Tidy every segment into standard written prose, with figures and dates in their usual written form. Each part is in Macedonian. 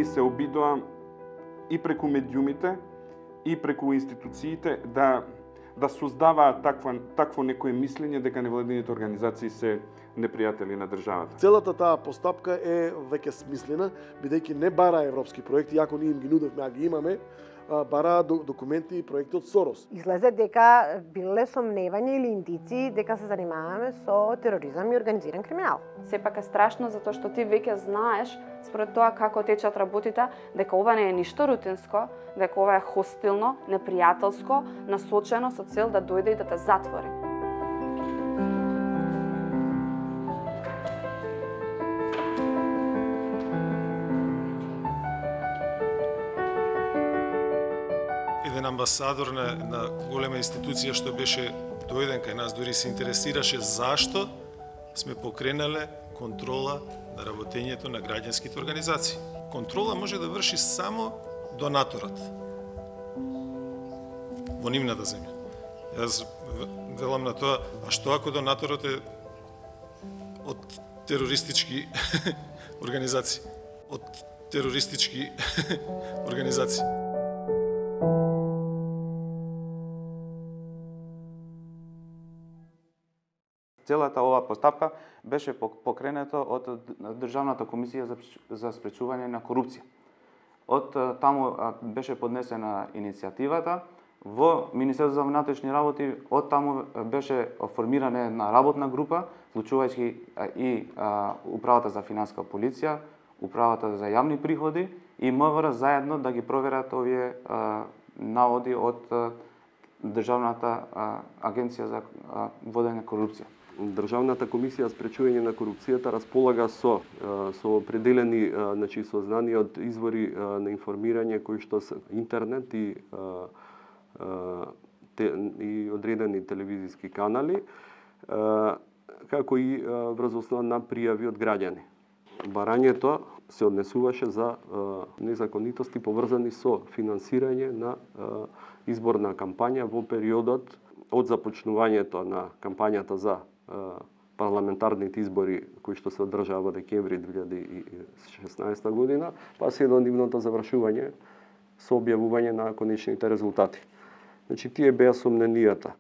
или се обидоа и преку медиумите и преку институциите да создаваат такво некое мислење дека невладините организации се непријатели на државата. Целата таа постапка е веќе смислена, бидејќи не бара европски проекти, иако ние им ги нудевме, а ги имаме, бара документи и проекти од Сорос. Излезе дека биле сомневања или индици дека се занимаваме со тероризам и организиран криминал. Сепак е страшно затоа што ти веќе знаеш според тоа како течат работите, дека ова не е ништо рутинско, дека ова е хостилно, непријателско, насочено со цел да дојде и да те затвори. Еден амбасадор на голема институција што беше дојден кај нас, дури се интересираше зашто сме покренале контрола на работењето на граѓанските организации. Контрола може да врши само донаторот во нивната земја. Јас велам на тоа, а што ако донаторот е од терористички организации? Од терористички организации. Целата оваа постапка беше покренета од Државната комисија за спречување на корупција. Од таму беше поднесена иницијативата во Министерството за внатрешни работи, од таму беше формирана една работна група, вклучувајќи и Управата за финансиска полиција, Управата за јавни приходи и МВР заедно да ги проверат овие наводи од Државната агенција за водење корупција. Државната комисија за спречување на корупцијата располага со определени сознание од извори на информирање кои што се интернет и одредени телевизиски канали, како и врз основа на пријави од граѓани. Барањето се однесуваше за незаконитости поврзани со финансирање на изборна кампања во периодот од започнувањето на кампањата за парламентарните избори кои што се одржаа во декември 2016 година, па се до нивното завршување со објавување на конечните резултати. Значи, тие беа сомненијата.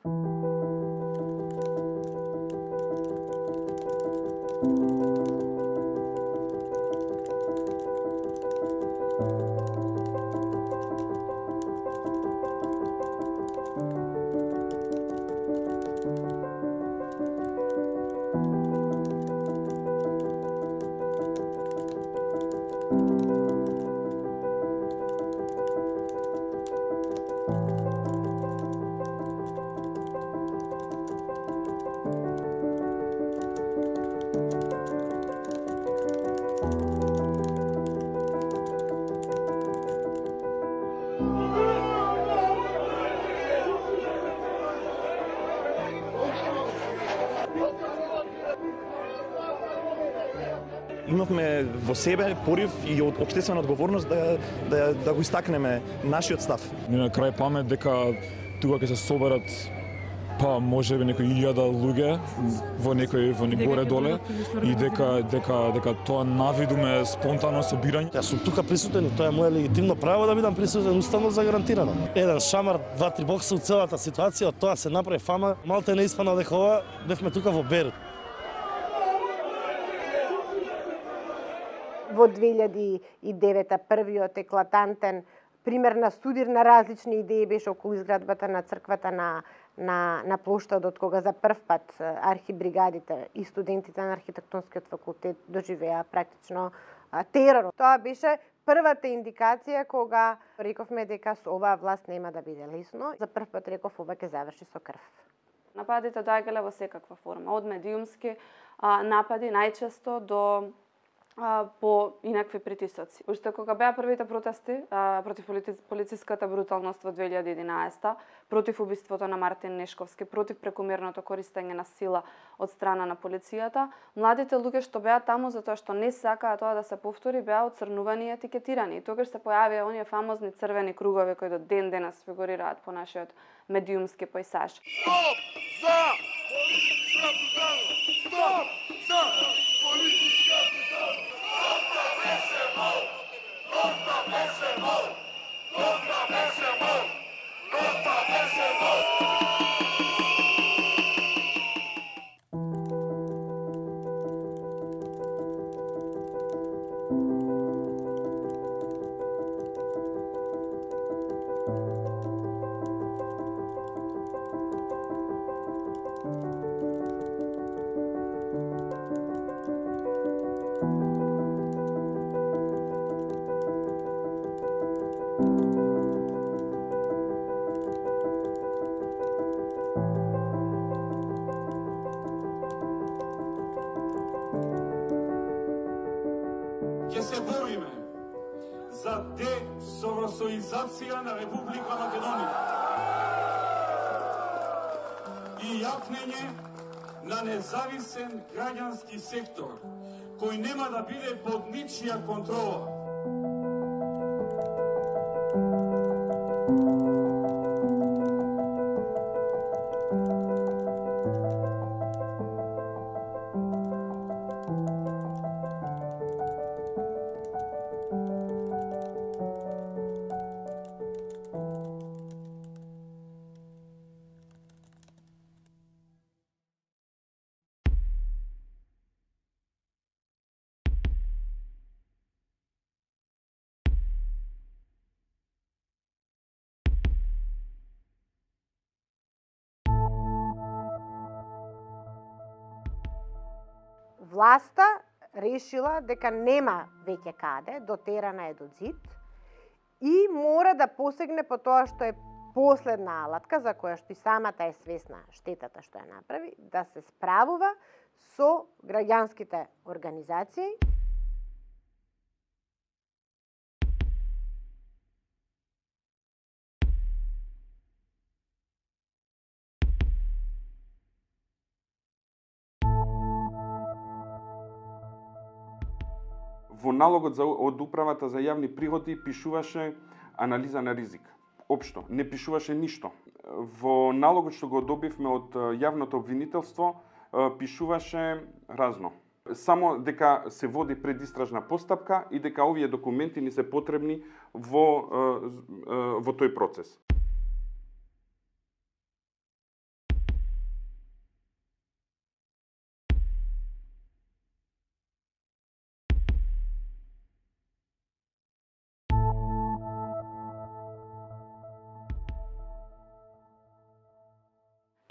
Имавме во себе порив и општествена одговорност да го истакнеме нашиот став. На крај памет дека тука ќе се соберат можеби некои 1000 луѓе во некој горе доле и дека тоа навидуме спонтано собирање. Јас сум тука присутен и тоа е мое легитимно право да бидам присутен, уставно загарантирано. Еден шамар, 2-3 бокса од целата ситуација, од тоа се направи фама. Малте не испана дека ова бевме тука во Берут. Во 2009 првиот еклатантен пример на студир на различни идеи беше околу изградбата на црквата на плоштадот, кога за прв пат архибригадите и студентите на архитектонскиот факултет доживеа практично терор. Тоа беше првата индикација кога рековме дека со оваа власт нема да биде лесно. За прв пат реков ова ќе заврши со крв. Нападите доаѓале во секаква форма, од медиумски напади најчесто до по инакви притисоци. Уште кога беа првите протести против полициската бруталност во 2011, против убиството на Мартин Нешковски, против прекумерното користење на сила од страна на полицијата, младите луѓе што беа таму затоа што не сакаа тоа да се повтори, беа оцрнувани и етикетирани. И тогаш се појавија оние фамозни црвени кругови кои до ден денес фигурираат по нашиот медиумски појсаж. Стоп за политичка бруталност! Стоп за политичка бруталност! Ќе се бориме за десовросоизација на Република Македонија и јакнење на независен граѓански сектор кој нема да биде под ничија контрола. Власта решила дека нема веќе каде, дотерана е до зид и мора да посегне по тоа што е последна алатка, за која што и самата е свесна штетата што ја направи, да се справува со граѓанските организации. Во налогот од управата за јавни приходи пишуваше анализа на ризик. Општо, не пишуваше ништо. Во налогот што го добивме од јавното обвинителство пишуваше разно. Само дека се води предистражна постапка и дека овие документи ни се потребни во тој процес.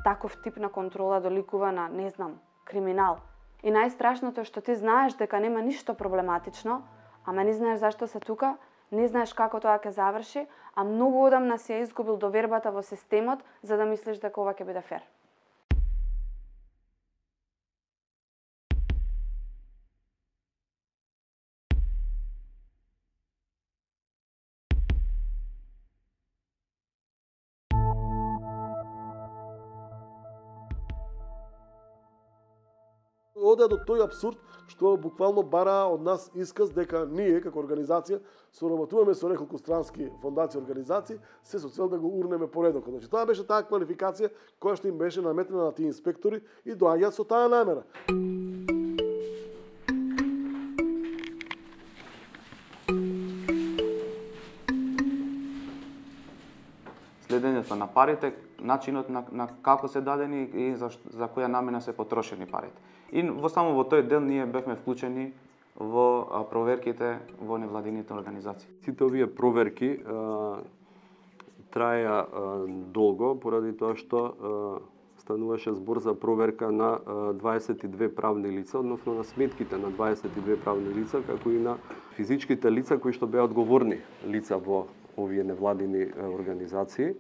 Таков тип на контрола доликува на, не знам, криминал. И најстрашното е што ти знаеш дека нема ништо проблематично, ама не знаеш зашто се тука, не знаеш како тоа ќе заврши, а многу одамна си ја изгубил довербата во системот за да мислиш дека ова ќе биде фер. Оде до тој абсурд што буквално бара од нас исказ дека ние како организација соработуваме со неколку странски фондации и организации се со цел да го урнеме поредокот. Значи тоа беше таа квалификација која што им беше наметнена на тие инспектори и доаѓаат со таа намера. Следењето на парите, начинот на како се дадени и за која намена се потрошени парите. И само во тој дел ние бевме вклучени во проверките во невладините организации. Сите овие проверки траја долго поради тоа што стануваше збор за проверка на 22 правни лица, односно на сметките на 22 правни лица, како и на физичките лица кои што беа одговорни лица во овие невладини организации.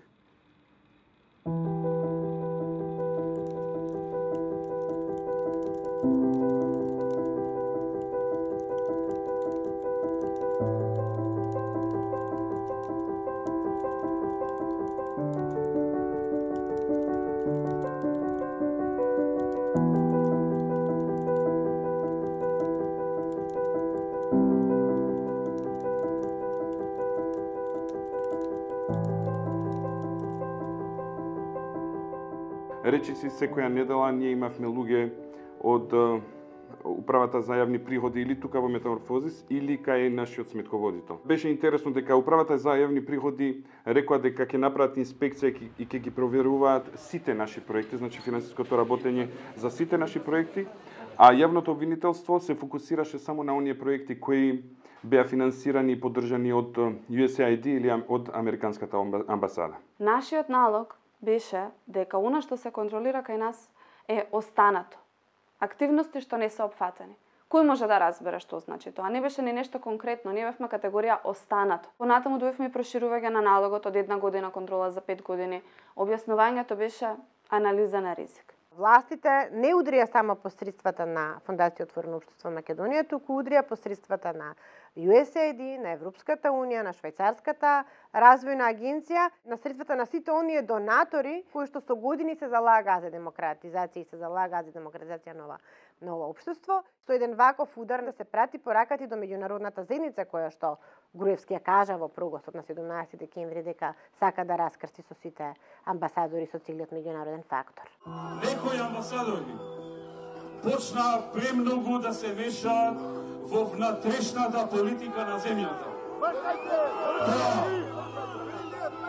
Речиси секоја недела ние имавме луѓе од управата за јавни приходи или тука во Метаморфозис или кај нашиот сметководител. Беше интересно дека управата за јавни приходи рекоа дека ќе направат инспекција и ќе ги проверуваат сите наши проекти, значи финансиското работење за сите наши проекти, а јавното обвинителство се фокусираше само на оние проекти кои беа финансирани и поддржани од USAID или од Американската амбасада. Нашиот налог беше дека она што се контролира кај нас е останато. Активности што не се опфатени. Кој може да разбере што значи тоа? Не беше ни нешто конкретно, ние бевме категорија останато. Понатаму дојдовме проширување на налогот од 1 година контрола за 5 години. Објаснувањето беше анализа на ризик. Властите не удрија само посредствата на Фондација Отворено општество Македонија, туку удрија посредствата на USAID, на Европската унија, на Швајцарската развојна агенција, на средствата на сите оние донатори кои што со години се залагаа за демократизација и се залагаа за демократизација на ова општество. Со еден ваков удар да се прати пораката до меѓународната заедница која што Груевски ја кажа во прогостот на 17 декември дека сака да раскрсти со сите амбасадори со целиот меѓународен фактор. Некои амбасадори почнаа премногу да се мешаат во внатрешната политика на земјата.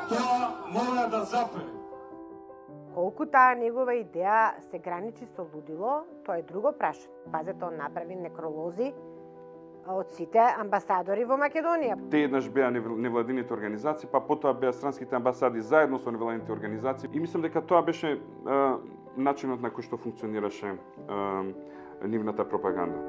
Тоа мора да запре. Колку таа негова идеја се граничи со лудило, тоа е друго прашање. Пазете, он направи некролози од сите амбасадори во Македонија. Те еднаш беа невладините организации, па потоа беа странските амбасади заедно со невладините организации. И мислам дека тоа беше начинот на кој што функционираше нивната пропаганда.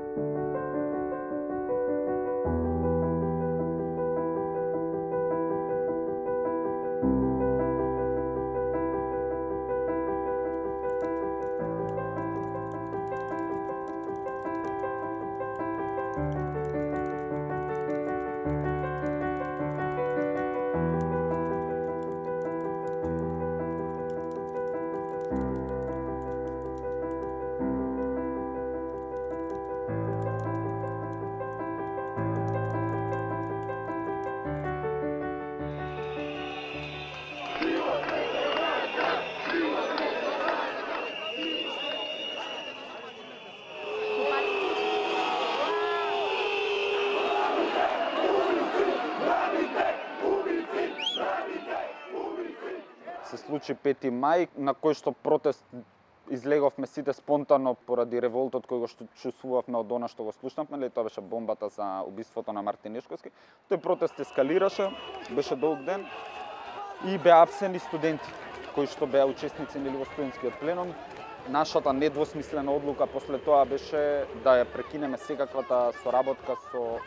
Се случи 5 мај, на кој што протест излеговме сите спонтано поради револтот кој го чувствувавме од она што го слушнавме, тоа беше бомбата за убиството на Мартин Нешковски. Тој протест ескалираше, беше долг ден и беа апсени студенти кои што беа учесници во студентскиот пленум. Нашата недвосмислена одлука после тоа беше да ја прекинеме секаквата соработка со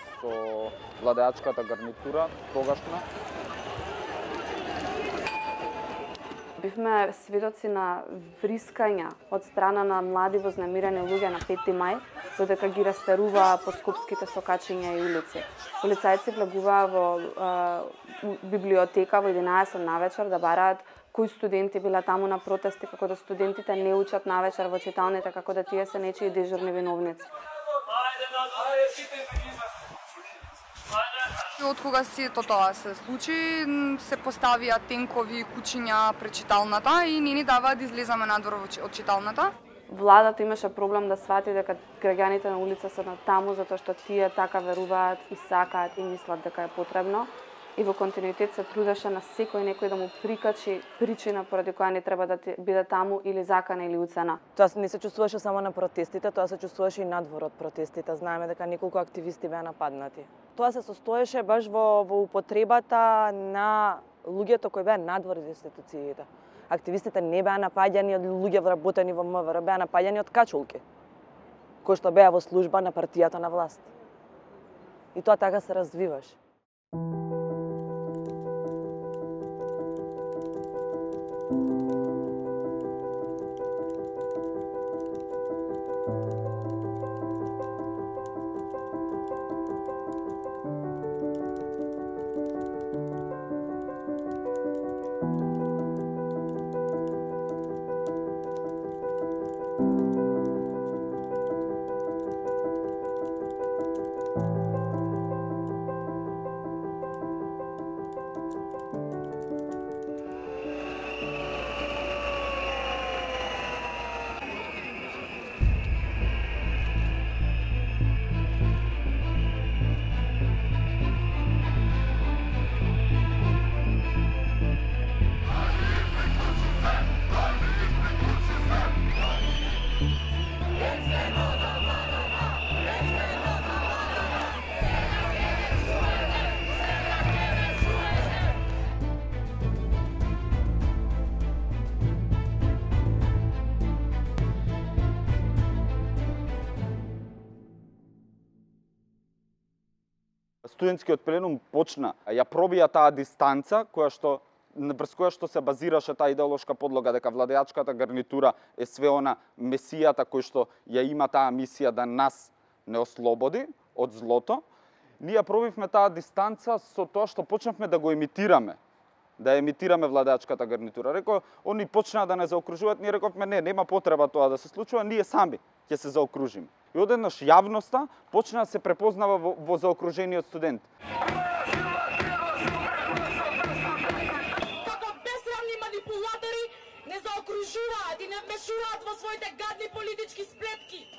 владеачката гарнитура тогашна. Бивме сведоци на врискања од страна на млади вознемирени луѓе на 5 мај, додека ги растеруваа по скопските сокачиња и улици. Полицајци влегуваа во библиотека во 11 навечер да бараат кои студенти биле таму на протести, како да студентите не учат навечер во читалните, како да тие се нечии дежурни виновници. Од кога сето тоа се случи, се поставија тенкови кучиња пред читалната и не ни даваат да излеземе надвор од читалната. Владата имаше проблем да свати дека граѓаните на улица се на таму затоа што тие така веруваат и сакаат и мислат дека е потребно. И во континуитет се трудеше на секој некој да му прикачи причина поради која не треба да биде таму или закана или уцена. Тоа не се чувствуваше само на протестите, тоа се чувствуваше и надвор од протестите. Знаеме дека неколку активисти беа нападнати. Тоа се состоеше баш во употребата на луѓето кои беа надвор од институциите. Активистите не беа напаѓани од луѓе вработени во МВР, беа напаѓани од качулки, кои што беа во служба на партијата на власт. И тоа така се развиваше. студентскиот пленум почна, ја пробија таа дистанца врз која што се базираше таа идеолошка подлога дека владеачката гарнитура е све она месијата кој што ја има таа мисија да нас не ослободи од злото, ние пробивме таа дистанца со тоа што почнавме да го емитираме. Да емитираме владеачката гарнитура. Реков, они почнаа да не заокружуваат, ние рековме не, нема потреба тоа да се случува, ние сами ќе се заокружиме. И одеднаш јавноста почна да се препознава во заокружениот студент. Како бесрамни манипулатори не заокружуваат и не вмешуваат во своите гадни политички сплетки.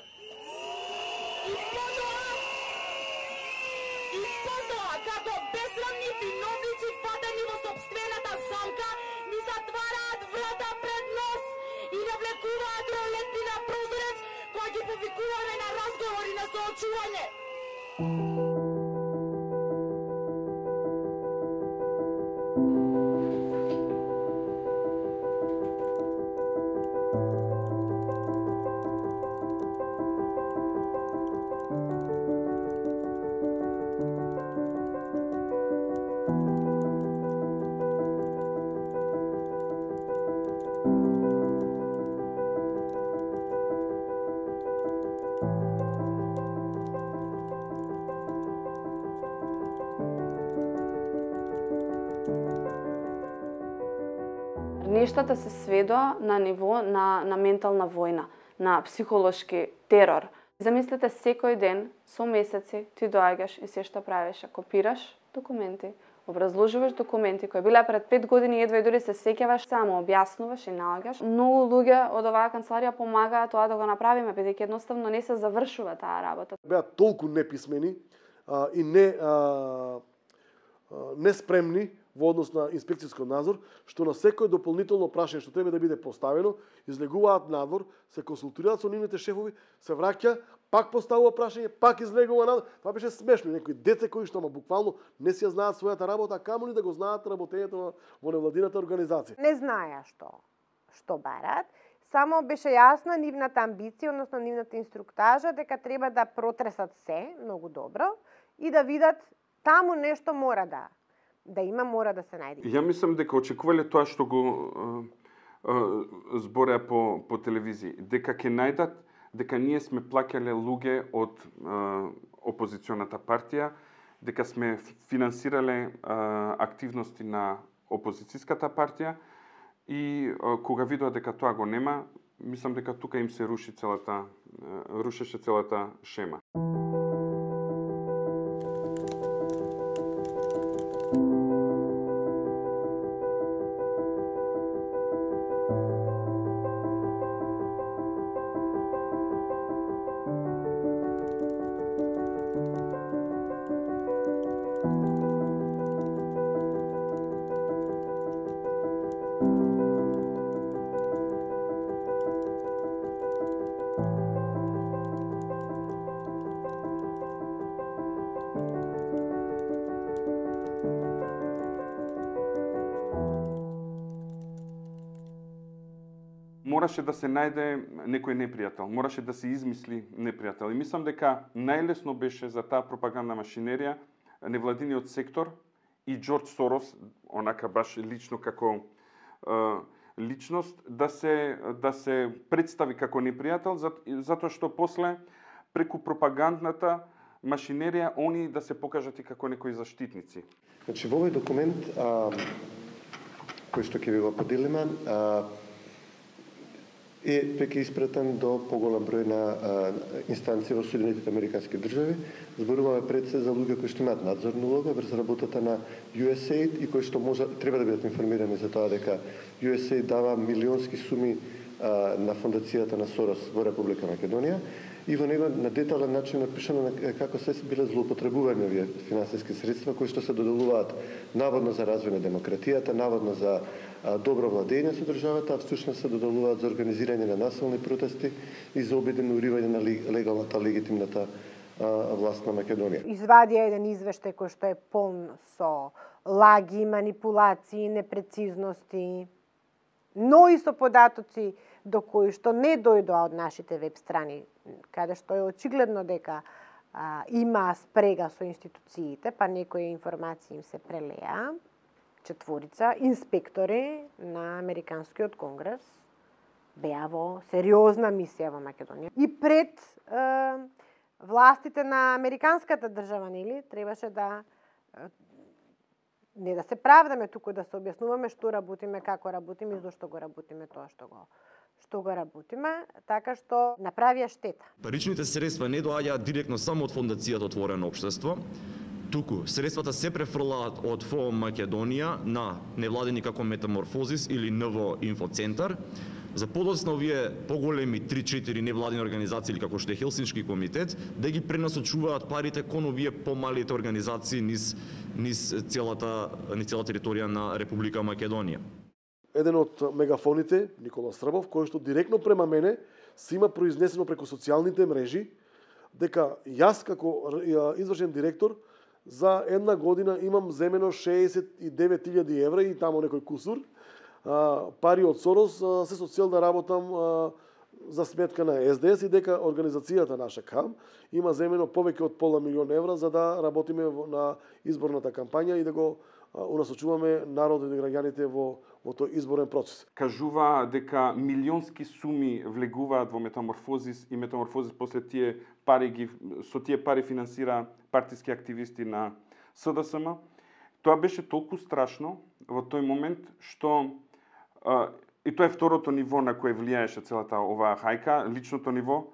И потоа, како бесрамни виновници фатени во собствената замка, ни затвараат врата пред нос и навлекуваат ролетни на прозорец, кои ги повикуваме на разговори на соочување. Нештата се сведоа на ниво на ментална војна, на психолошки терор. Замислете, секој ден, со месеци, ти доаѓаш и се што правиш, копираш документи, образложуваш документи кои биле пред 5 години, едва и дури се сеќаваш, само објаснуваш и наоѓаш. Многу луѓе од оваа канцеларија помагаат тоа да го направиме, бидејќи едноставно не се завршува таа работа. Беа толку неписмени и неспремни во однос на инспекцијски надзор, што на секој дополнително прашање што треба да биде поставено, излегуваат надвор, се консултираат со нивните шефови, се враќа, пак поставува прашање, пак излегува надвор. Това беше смешно. Некои деца кои што буквално не си ја знаат својата работа, камо ли да го знаат работењето во невладината организација. Не знаеа што барат, само беше јасна нивната амбиција, односно нивната инструктажа дека треба да протресат се многу добро и да видат таму нешто мора мора да се најде. Ја мислам дека очекувале тоа што го збореа по телевизија, дека ќе најдат дека ние сме плаќале луѓе од опозиционата партија, дека сме финансирале активности на опозицијската партија и кога видоа дека тоа го нема, мислам дека тука им се рушеше целата шема. Мораше да се најде некој непријател, мораше да се измисли непријател. И мислам дека најлесно беше за таа пропагандна машинерија невладиниот сектор и Џорџ Сорос, онака баш лично како личност, да се представи како непријател, затоа што после преку пропагандната машинерија они да се покажат и како некои заштитници. Значи, во овој документ кој што ќе ви го поделиме, е веќе испратен до поголем број на инстанции во Соединетите Американски држави. Зборуваме пред се за луѓе кои што имаат надзорна улога врз работата на USAID и кои што треба да бидат информирани за тоа дека USAID дава милионски суми на фондацијата на Сорос во Република Македонија и во него на детален начин напишано како се биле злоупотребувани овие финансиски средства кои што се доделуваат наводно за развој на демократијата, наводно за добро владење со државата, а всушност се доделуваат за организирање на насилни протести и за обидено уривање на легалната, легитимната власт на Македонија. Извадија еден извештај кој што е полн со лаги, манипулации, непрецизности, но и со податоци до кои што не дојдоа од нашите веб страни, каде што е очигледно дека има спрега со институциите, па некои информации им се прелеа. 4 инспектори на Американскиот конгрес беа во сериозна мисија во Македонија. И пред властите на американската држава, нели, требаше да не да се правдаме, туку да се објаснуваме што работиме, како работиме и зошто го работиме тоа што го работиме, така што направија штета. Паричните средства не доаѓаат директно само од фондацијата Отворено општество, туку средствата се префрлаат од ФО Македонија на невладени како Метаморфозис или НВО Инфоцентар. За подоцна овие поголеми 3-4 невладени организации или како што е Хелсиншки комитет, да ги пренасочуваат парите кон овие помалите организации низ целата територија на Република Македонија. Еден од мегафоните, Никола Србов, кој што директно према мене се има произнесено преку социјалните мрежи дека јас како извршен директор за една година имам земено 69.000 евра и тамо некој кусур пари од Сорос се со цел да работам за сметка на СДС и дека организацијата наша КАМ има земено повеќе од полна милион евра за да работиме на изборната кампања и да го унасочуваме народот и граѓаните во тој изборен процес. Кажува дека милионски суми влегуваат во Метаморфозис и Метаморфозис после со тие пари финансира партиски активисти на СДСМ. Тоа беше толку страшно во тој момент што и тоа е второто ниво на кое влијаеше целата оваа хајка, личното ниво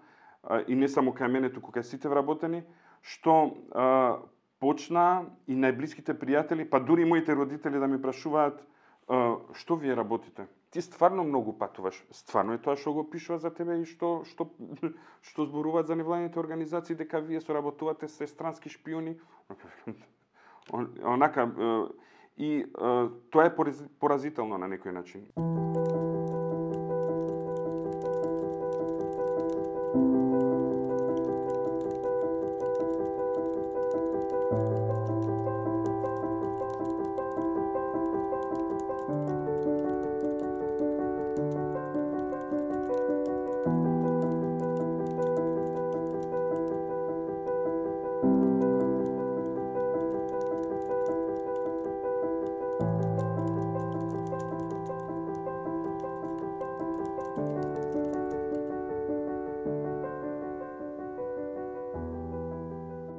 и не само кај мене, туку кај сите вработени, што почна и најблиските пријатели, па дури моите родители да ми прашуваат што вие работите? Ти стварно многу патуваш. Стварно е тоа што го пишува за тебе и што зборуваат за невладените организации дека вие соработувате со странски шпиони. Онака и тоа е поразително на некој начин.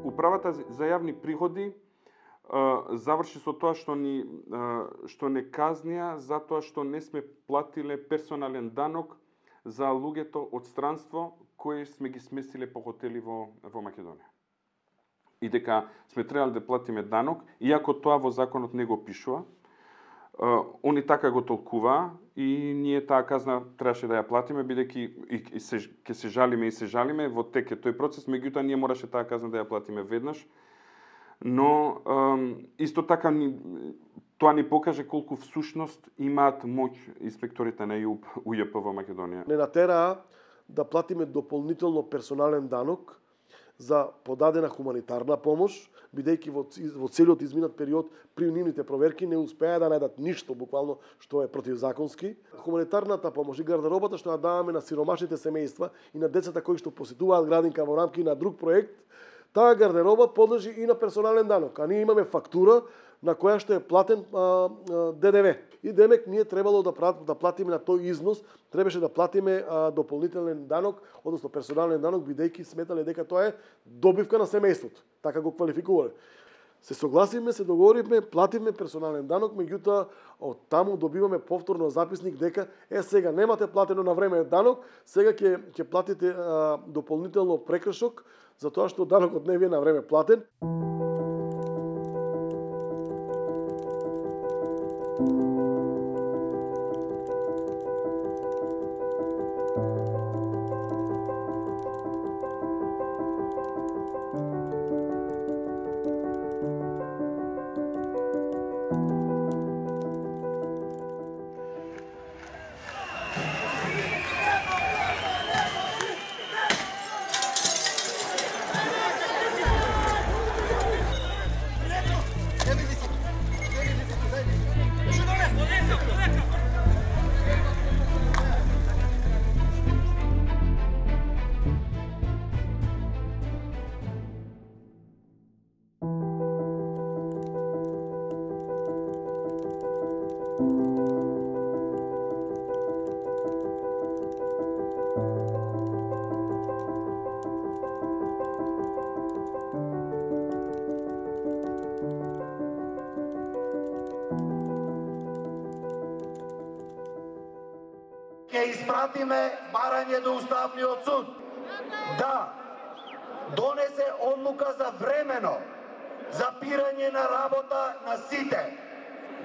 Управата за јавни приходи заврши со тоа што не казнија затоа што не сме платиле персонален данок за луѓето од странство кои сме ги сместиле по хотели во Македонија. И дека сме требале да платиме данок, иако тоа во законот не го пишува. Они така го толкуваа и ние таа казна требаше да ја платиме, бидејќи ќе се жалиме во тек е тој процес, меѓутоа ние мораше таа казна да ја платиме веднаш. Но исто така тоа ни покаже колку всушност имаат моќ инспекторите на УЈП во Македонија. Не натераа да платиме дополнително персонален данок за подадена хуманитарна помош, бидејќи во целиот изминат период при нивните проверки не успеа да најдат ништо буквално што е противзаконски. Хуманитарната помош и гардеробата што ја даваме на сиромашните семејства и на децата кои што посетуваат градинка во рамки на друг проект, таа гардероба подлежи и на персонален данок, а ние имаме фактура на која што е платен ДДВ. И демек ние требало да платиме на тој износ, требаше да платиме дополнителен данок, односно персонален данок, бидејќи сметале дека тоа е добивка на семејството. Така го квалификувале. Се согласивме, се договоривме, плативме персонален данок, меѓутоа од таму добиваме повторно записник дека сега немате платено на време данок, сега ќе платите дополнително прекршок за тоа што данокот не ви е на време платен. ќе испратиме барање до Уставниот суд да донесе одлука за времено запирање на работа на сите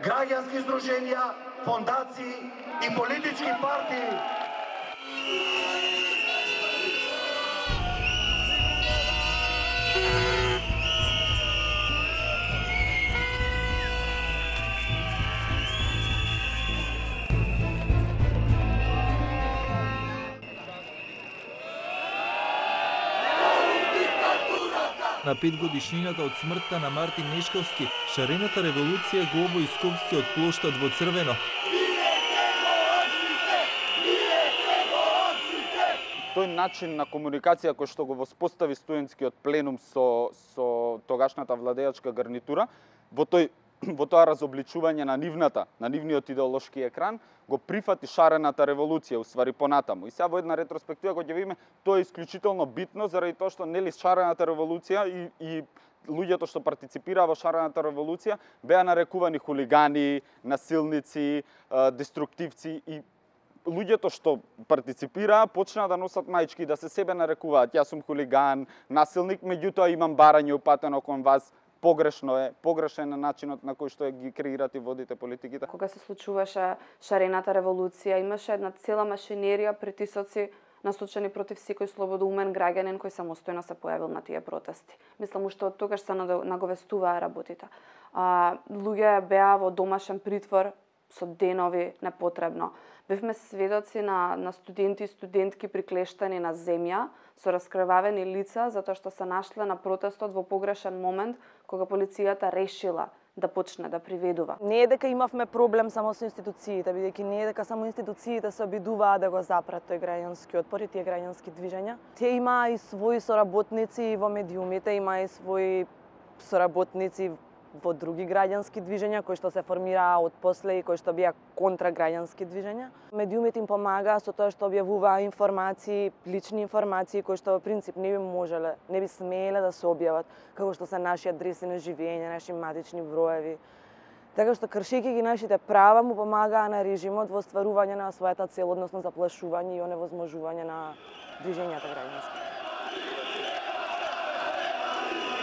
граѓански здруженија, фондации и политички партии. На 5 годишнината од смртта на Мартин Нешковски, шарената револуција го обои Скопскиот плоштад во црвено. Тој начин на комуникација кој што го воспостави студентскиот пленум со тогашната владеачка гарнитура, во тоа разобличување на нивниот идеолошки екран, го прифати шарената револуција, уствари понатаму. И сега во една ретроспектива која ќе видиме, тоа е исклучително битно заради тоа што нели шарената револуција и луѓето што партиципираа во шарената револуција беа нарекувани хулигани, насилници, деструктивци и луѓето што партиципираа почнаа да носат маички, да се себе нарекуваат јас сум хулиган, насилник, меѓутоа имам барање упатено кон вас. Погрешен е начинот на кој што ги креирате и водите политиките. Кога се случуваше шарената револуција, имаше една цела машинерија притисоци насочени против секој слободоумен граѓанин кој самостојно се појавил на тие протести. Мислам уште од тогаш се наговестуваа работите. Луѓе беа во домашен притвор со денови непотребно. Бевме сведоци на студенти и студентки приклештани на земја со раскрвавени лица затоа што се нашле на протестот во погрешен момент кога полицијата решила да почне да приведува. Не е дека имавме проблем само со институциите, бидејќи не е дека само институциите се обидуваа да го запрат тој граѓански отпор и тие граѓански движења. Тие имаа и своји соработници во медиумите, имаа и своји соработници во други граѓански движења кои што се формираа од после и кои што беа контра граѓански движења. Медиумите им помагаа со тоа што објавуваа информации, лични информации кои што во принцип не би смееле да се објават, како што се наши адреси на живење, наши матични броеви. Така што кршејќи ги нашите права му помагаа на режимот во остварување на својата цел, односно заплашување и оневозможување на движењата граѓански.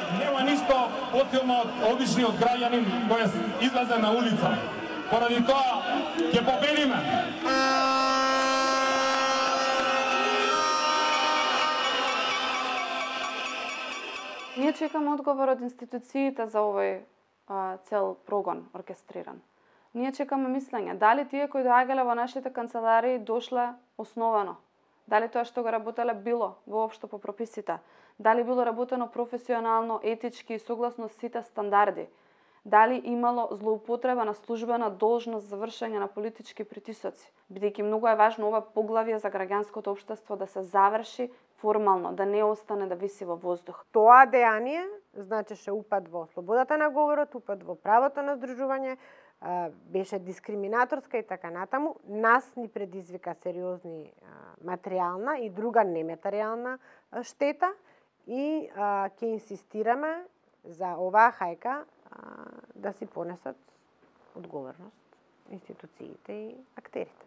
Нема ништо посилно од обичниот граѓанин кој излезе на улица. Поради тоа ќе победиме. Ние чекаме одговор од институциите за овој цел прогон оркестриран. Ние чекаме мислење. Дали тие кои доаѓале во нашите канцеларии дошле основано? Дали тоа што го работеле било воопшто по прописите? Дали било работено професионално, етички и согласно сите стандарди? Дали имало злоупотреба на службена должност за вршење на политички притисоци? Бидејќи многу е важно ова поглавје за граѓанското општество да се заврши формално, да не остане да виси во воздух. Тоа дејание значеше упад во слободата на говорот, упад во правото на здружување, беше дискриминаторска и така натаму. Нас ни предизвика сериозни материјална и друга нематеријална штета и ќе инсистираме за оваа хајка да си понесат одговорност институциите и актерите.